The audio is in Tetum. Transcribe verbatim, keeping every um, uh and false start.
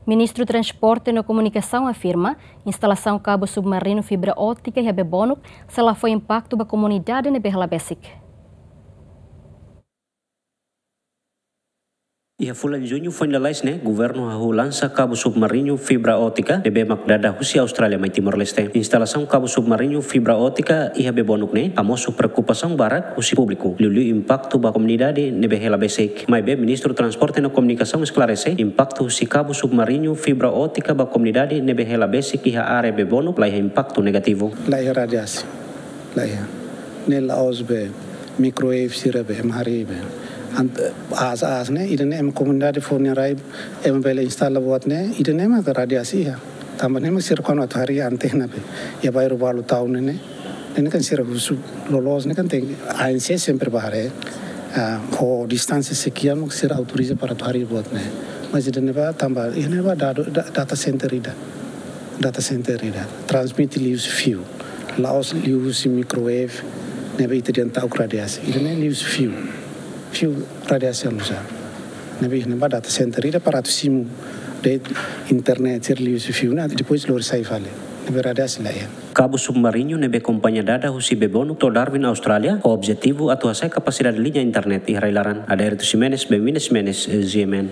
Ministru Transporte no Komunikasaun afirma, instalasaun kabu submarinu fibra ótika iha Bebonuk sei la fó impaktu ba komunidade ne'ebé hela besik. Iha fulan Juñu foin lalais ne'e, governu hahú lansa kabu submarinu fibra ótika ne'ebé mak dada husi Austrália mai Timor-Leste. Instalasaun kabu submarinu fibra ótika iha Bebonuk ne'e hamosu preokupasaun barak husi públiku, liuliu impaktu ba komunidade ne'ebé hela besik. Maibé Ministru Transporte no Komunikasaun esklarese, impaktu husi kabu submarinu fibra ótika ba komunidade ne'ebé hela besik iha área Bebonuk la iha impaktu negativu. La iha radiasi, la iha. Ne'e la'ós be microwave sira be ema harii be. Ant-, aas-aas ne'e, ida-ne'e ema komunidade fó nia rai, ema bele instala buat ne'e, ida-ne'e mak radiasi iha. Tanba ne'e mak sira kuandu atu harii antena be, iha bairru balu tau ne'e ne'e. Ne'e kan sira husu loloos ne'e kan tenke A N C sempre bá haree, ah, ho distánsia sekian mak sira autoriza para atu harii buat ne'e. Mas ida-ne'e ba tanba, ida-ne'e ba dadu, da-, data center ida. Data center ida. Transmite liuhusi fiu. La'ós liuhusi microwave, ne'ebé ita dehan ta'uk radiasi. Ida-ne'e liuhusi fiu. Fiu radiasi anu sa. Ne'ebé ne'e ba data center ida para atu simu de'it internet sira liuhusi fiu ne'e, depois lori sai fali. Ne'ebé radiasi la iha. Kabu submarinu ne'ebé kompañia dada husi Bebonuk to'o Darwin, Austrália, ho objetivu atu hasa'e kapasidade liña internet iha rai-laran. Adérito Ximenes, Benvinda Ximenes, G M N.